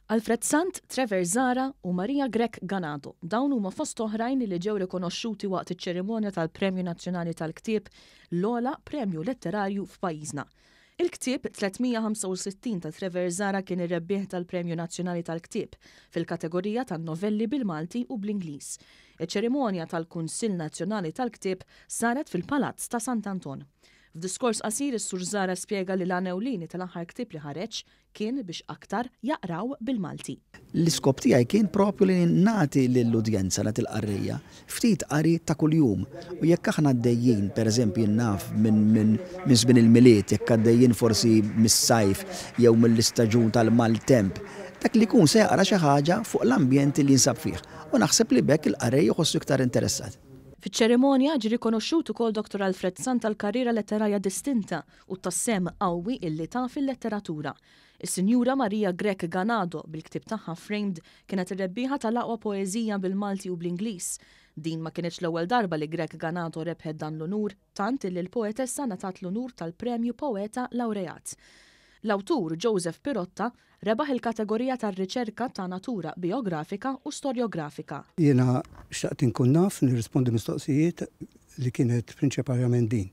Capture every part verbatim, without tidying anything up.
Alfred Sant, Trevor Zahra u Maria Grech Ganado. Dawn huma fost oħrajn li ġew rikonoxxuti waqt iċ-ċerimonja tal-Premju Nazzjonali tal-Ktieb, l-ogħla premju letterarju f'pajjiżna. Il-ktieb tliet mija ħamsa u sittin ta' Trevor Zahra kien ir-rebbieħ tal-Premju Nazzjonali tal-Ktieb fil-kategorija tan-novelli bil-Malti u bl-Ingliż. Iċ-ċerimonja tal-Kunsill Nazzjonali tal-Ktieb saret fil-Palazz ta' Sant'Anton. F'diskors qasir is-Sur Zahra spjega li l-għan ewlieni tal-aħħar ktieb li ħareġ kien biex aktar jaqraw bil-Malti. L-iskop tiegħi kien propju li nagħti lill-udjenza, nagħti l-qarrejja, ftit qari ta' kuljum. U jekk aħna għaddejjin, pereżempju naf minn, minn, minn żmien il-Milied, jekk għaddejjin forsi mis-sajf jew mill-istaġun tal-maltemp, dak li jkun se jaqra xi ħaġa fuq l-ambjent li jinsab fih. U naħseb li b'hekk il-qarrej jħossu iktar interessat. Fiċ-ċerimonja ġie rikonoxxut ukoll Doktor Alfred Sant għall-karriera letterarja distinta u tas-sehem qawwi illi ta fil-letteratura. Is-Sinjura Maria Grech Ganado bil-ktieb tagħha Framed kienet ir-rebbieħa tal-aqwa poeżija bil-Malti u bl-Ingliż. Din ma kienx l-ewwel darba li Grech Ganado rebħet dan l-unur, tant illi l-poetessa ngħatat l-unur tal-Premju Poeta Laureat. L-awtur Joseph Pirotta rebaħ il-kategorija tar-riċerka ta' natura biografika u storjografika. Jiena xtaqt inkun naf nirrispondi mistoqsijiet li kienet prinċipalment din.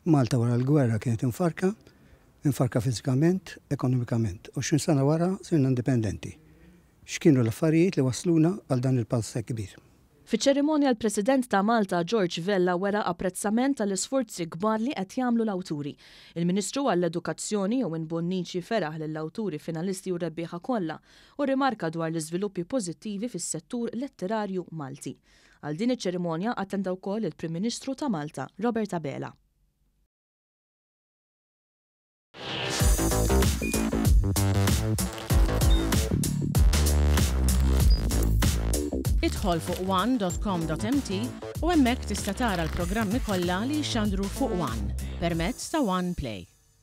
Malta wara l-gwerra kienet infarka, infarka fiżikament, ekonomikament. għoxrin sena wara sirna indipendenti. X'kienu l-affarijiet li wasluna għal dan il-pass kbir? Fiċ-ċerimonja l-President ta' Malta George Vella wera apprezzament tal-isforzi kbar li qed jagħmlu l-awturi. Il-Ministru għall-Edukazzjoni Owen Bonnici feraħ lill-awturi finalisti u rebbieħa kollha u rimarka dwar l-iżviluppi pożittivi fis-settur letterarju Malti. Għal din iċ-ċerimonja attenda wkoll il-Prim Ministru ta' Malta Robert Abela. Idħol fuq one dot com dot m t u hemmhekk tista' tara l-programmi kollha li jixxandru fuq One permezz ta' One Play.